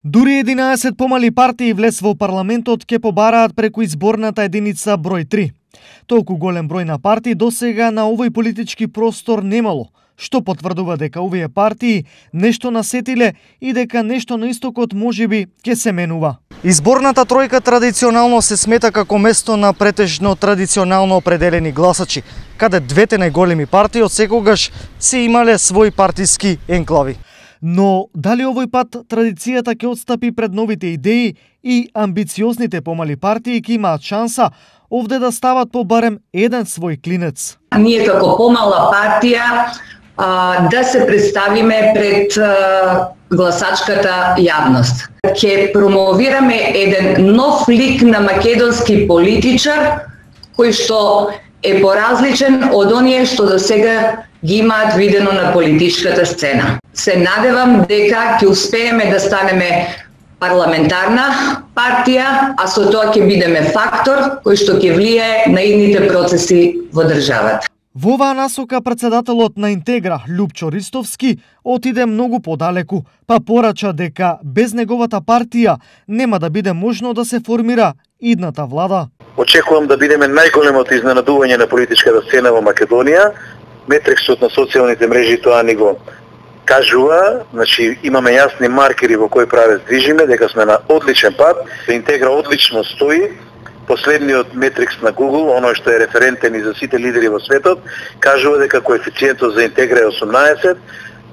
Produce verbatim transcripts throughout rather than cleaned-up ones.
Дури единаесет помали партии влез во парламентот ќе побараат преку изборната единица број три. Толку голем број на партии досега на овој политички простор немало, што потврдува дека овие партии нешто насетиле и дека нешто на истокот можеби ќе се менува. Изборната тројка традиционално се смета како место на претежно традиционално определени гласачи, каде двете најголеми партии отсекогаш се имале свои партиски енклави. Но дали овој пат традицијата ќе отстапи пред новите идеи и амбициозните помали партии ќе имаат шанса овде да стават по барем еден свој клинец? Ние како помала партија а, да се представиме пред а, гласачката јавност. Ќе промовираме еден нов лик на македонски политичар кој што е поразличен од оние што до сега ги имаат видено на политичката сцена. Се надевам дека ќе успееме да станеме парламентарна партија, а со тоа ќе бидеме фактор кој што ќе влијае на идните процеси во државата. Во оваа насока председателот на Интегра, Љупчо Ристовски, отиде многу подалеку, па порача дека без неговата партија нема да биде можно да се формира идната влада. Очекувам да бидеме најголемото изненадување на политичката сцена во Македонија. Метриксот на социјалните мрежи тоа ни го кажува, значи имаме јасни маркери во кој правец движиме, дека сме на одличен пат. Интегра одлично стои. Последниот метрикс на Google, оној што е референтен и за сите лидери во светот, кажува дека коефициентот за Интегра е осумнаесет,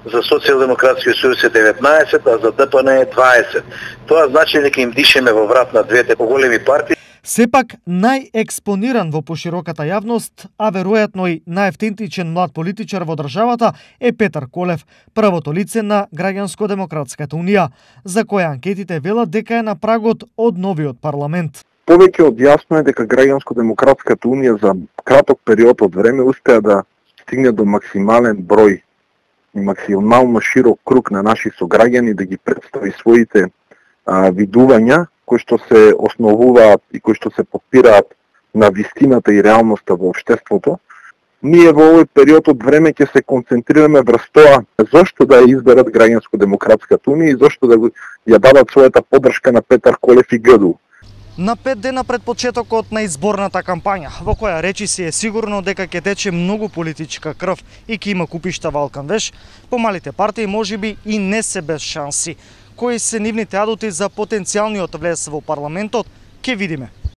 за Социјалдемократскиот сојуз е деветнаесет, а за Д П Н е дваесет. Тоа значи дека им дишеме во врат на двете поголеми партии. Сепак најекспониран во пошироката јавност, а веројатно и најавтентичен млад политичар во државата е Петар Колев, првото лице на Граѓанско-демократската унија, за која анкетите велат дека е на прагот од новиот парламент. Повеќе од јасно е дека Граѓанско-демократската унија за краток период од време успеа да стигне до максимален број и максимално широк круг на наши сограѓани, да ги представи своите а, видувања кои што се основуваат и кои што се подпираат на вистината и реалноста во општеството. Ние во овој период од време ќе се концентрираме врз тоа зошто да ја изберат Граѓанско-демократската унија и зошто да ја дадат својата поддршка на Петар Колев и Г Д У. На пет дена пред почетокот на изборната кампања, во која речи си е сигурно дека ќе тече многу политичка крв и ќе има купишта валкан веш, помалите партии можеби и не се без шанси. Кои се нивните адути за потенцијалниот влез во парламентот, ќе видиме.